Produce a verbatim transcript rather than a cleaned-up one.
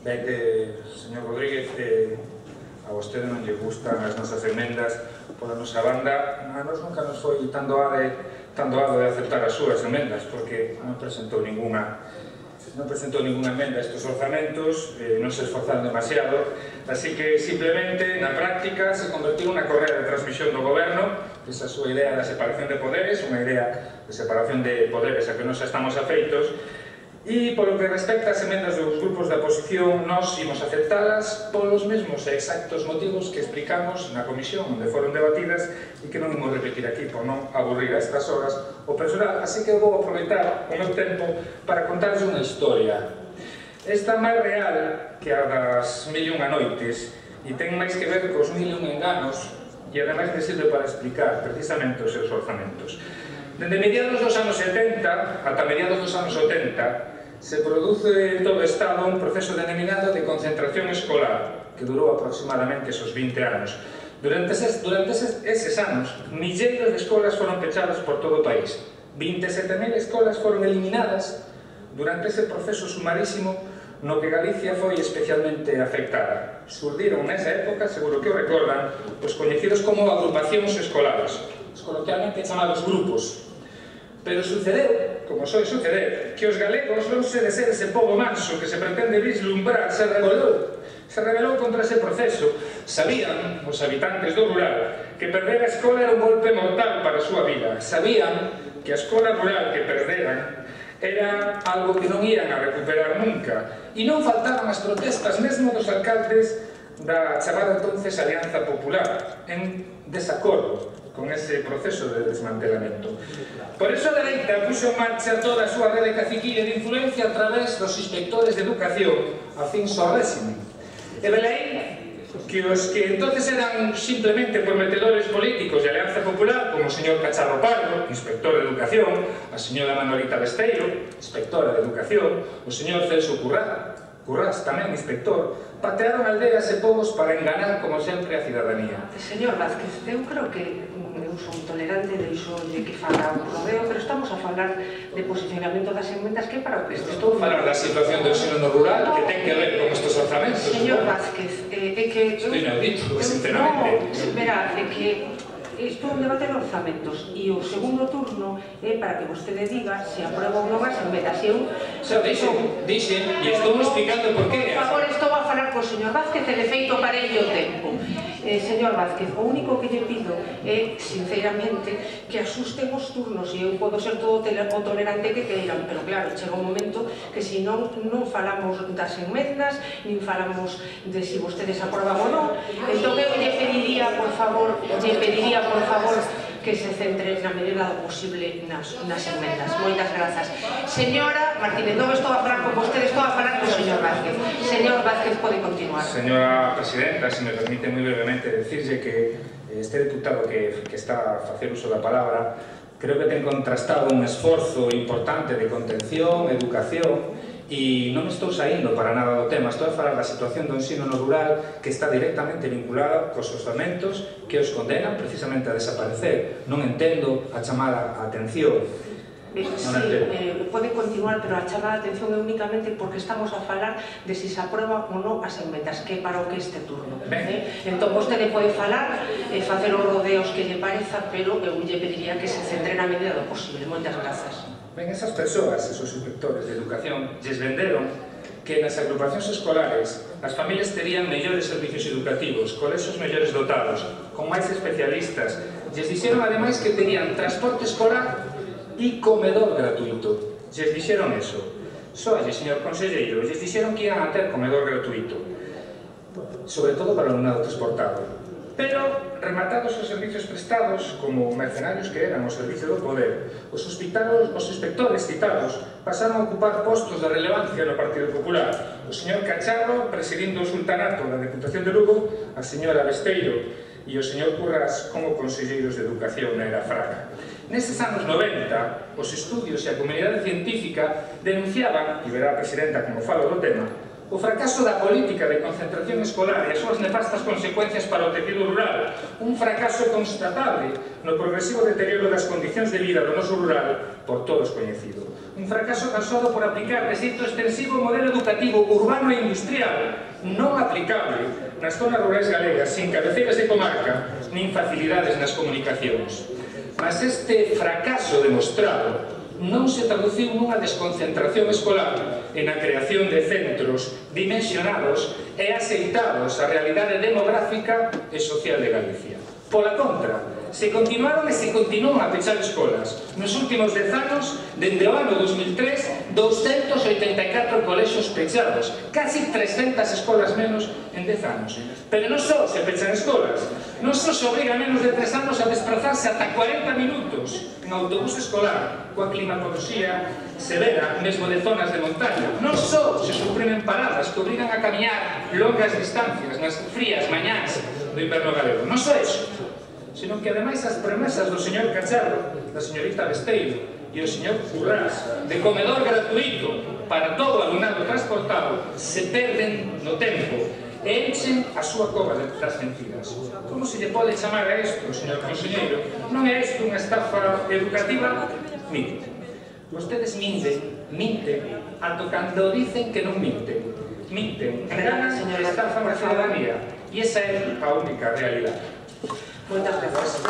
Ve que, señor Rodríguez, eh, a vostede non lle gustan as nosas emendas. Pola nosa banda, a nos nunca nos foi tan doado tan doado de aceptar as súas emendas, porque non presentou ninguna non presentou ninguna emenda a estes orzamentos, eh, non se esforzaron demasiado, así que simplemente na práctica se convertiu unha correa de transmisión do goberno, esa súa idea da separación de poderes, unha idea de separación de poderes a que nos estamos afeitos. E polo que respecta ás emendas dos grupos da oposición, nós imos aceptalas polos mesmos e exactos motivos que explicamos na comisión onde foron debatidas e que non imos repetir aquí por non aburrir a estas horas o personal, así que vou aproveitar o meu tempo para contarles unha historia. Esta máis real que a das mil e unha noites e ten máis que ver cos mil e un enganos e ademais me sirve para explicar precisamente os seus orzamentos. Dende mediados dos anos setenta ata mediados dos anos oitenta se produce en todo o Estado un proceso denominado de concentración escolar que durou aproximadamente esos vinte anos. Durante eses, durante eses, eses anos, milleiros de escolas foron pechadas por todo o país. vinte e sete mil escolas foron eliminadas durante ese proceso sumarísimo no que Galicia foi especialmente afectada. Surdiron nesa época, seguro que o recordan, os coñecidos como agrupacións escolares, os coloquialmente chamados grupos. Pero sucedeu, como soe suceder, que os galegos, lonxe de ser ese pobo manso que se pretende vislumbrar, se rebelou. Se rebelou contra ese proceso. Sabían, os habitantes do rural, que perder a escola era un golpe mortal para a súa vida. Sabían que a escola rural que perderan era algo que non ian a recuperar nunca. E non faltaban as protestas mesmo dos alcaldes da chamada entonces Alianza Popular, en desacordo con ese proceso de desmantelamento. Por eso a dereita puxo en marcha toda a súa rede caciquilla de influencia a través dos inspectores de educación afíns ao réxime. E velaí que os que entonces eran simplemente prometedores políticos de Alianza Popular, como o señor Cacharro Pardo, inspector de educación, a señora Manolita Besteiro, inspectora de educación, o señor Celso Currás, Currás tamén inspector, patearon aldeas e povos para enganar, como sempre, a cidadanía. Señor Vázquez, eu creo que eu son tolerante, deixolle que faga un rodeo, pero estamos a falar de posicionamento das enmendas que para o que este estou falar da situación do ensino no rural que ten que ver con estes orzamentos. Señor Vázquez, é que... Estou inaudito, sinceramente. Non, verá, é que isto é un debate de orzamentos e o segundo turno é para que vostede diga se aprueba ou non as enmendas. Eu... Dixen, dixen, e estou explicando por qué. Por favor, estou a falar co señor Vázquez e de feito parelle o tempo. Eh, señor Vázquez, o único que lle pido é, sinceramente, que asusten os turnos e eu podo ser todo o tolerante que queiran, pero claro, chega un momento que se non non falamos das enmendas, nin falamos de se vostedes aproban ou non, entón eu lle pediría, por favor, lle pediría, por favor, que se centre na medida do posible nas, nas enmendas. Moitas grazas. Señora Martínez, non estou a falar con vostede, estou a falar con o señor Vázquez. Señor Vázquez, pode continuar. Señora Presidenta, se me permite moi brevemente decirlle que este diputado que, que está a facer uso da palabra creo que ten contrastado un esforzo importante de contención, educación, e non estou saindo para nada do tema, estou a falar da situación do ensino no rural que está directamente vinculada cos orzamentos que os condenan precisamente a desaparecer. Non entendo a chamada a atención. Eh, sí, eh, pode continuar, pero a chamada a atención é únicamente porque estamos a falar de se se aprueba ou non as enmendas, que é para o que este turno. Eh? Entón, vostede pode falar e eh, facer os rodeos que lle pareza, pero eu lle pediría que se centre na medida do posible. Moitas grazas. Ben, esas persoas, esos inspectores de educación, lles venderon que nas agrupacións escolares as familias terían mellores servicios educativos, colexios mellores dotados, con máis especialistas. Lles dixeron, ademais, que terían transporte escolar e comedor gratuito. Lles dixeron eso. Soalle, señor conselleiro, lles dixeron que iban a ter comedor gratuito, sobre todo para o alumnado transportado. Pero, rematados os servicios prestados, como mercenarios que eran o servicio do poder, os hospitales, os inspectores citados pasaron a ocupar postos de relevancia no Partido Popular. O señor Cacharro, presidindo o sultanato da Deputación de Lugo, a señora Besteiro e o señor Currás como conselleiros de educación na era Fraga. Nestes anos noventa, os estudios e a comunidade científica denunciaban, e verá a presidenta como falo do tema, O fracaso da política de concentración escolar e as súas nefastas consecuencias para o tecido rural, un fracaso constatable no progresivo deterioro das condicións de vida do noso rural por todos coñecido. Un fracaso causado por aplicar de xeito extensivo o modelo educativo urbano e industrial, non aplicable nas zonas rurais galegas, sin cabeceiras de comarca, nin facilidades nas comunicacións. Mas este fracaso demostrado non se traduciu nunha desconcentración escolar e na creación de centros dimensionados e aceitados á realidade demográfica e social de Galicia. Pola contra, se continuaron e se continúan a pechar escolas. Nos últimos dez anos, dende o ano dos mil tres, douscentos oitenta e catro colexios pechados, casi trescentas escolas menos en dez anos. Pero non só se pechan escolas, non só se obriga a menos de tres anos a desplazarse ata cuarenta minutos en autobús escolar, coa climatoloxía severa, mesmo de zonas de montaña. Non só se suprimen paradas que obrigan a camiñar longas distancias nas frías mañás do inverno galego. Non só iso, senón que ademais as promesas do señor Cacharro, da señorita Besteiro e o señor Currás de comedor gratuito para todo o alumnado transportado se perden no tempo e enchen a súa cova das mentiras. Como se lle pode chamar a isto, señor conselleiro? Non é isto unha estafa educativa? Mire, vostedes minten, minten, ato cando dicen que non minten. Minten, enganan e estafan a ciudadanía. E esa é a única realidade. Moitas grazas.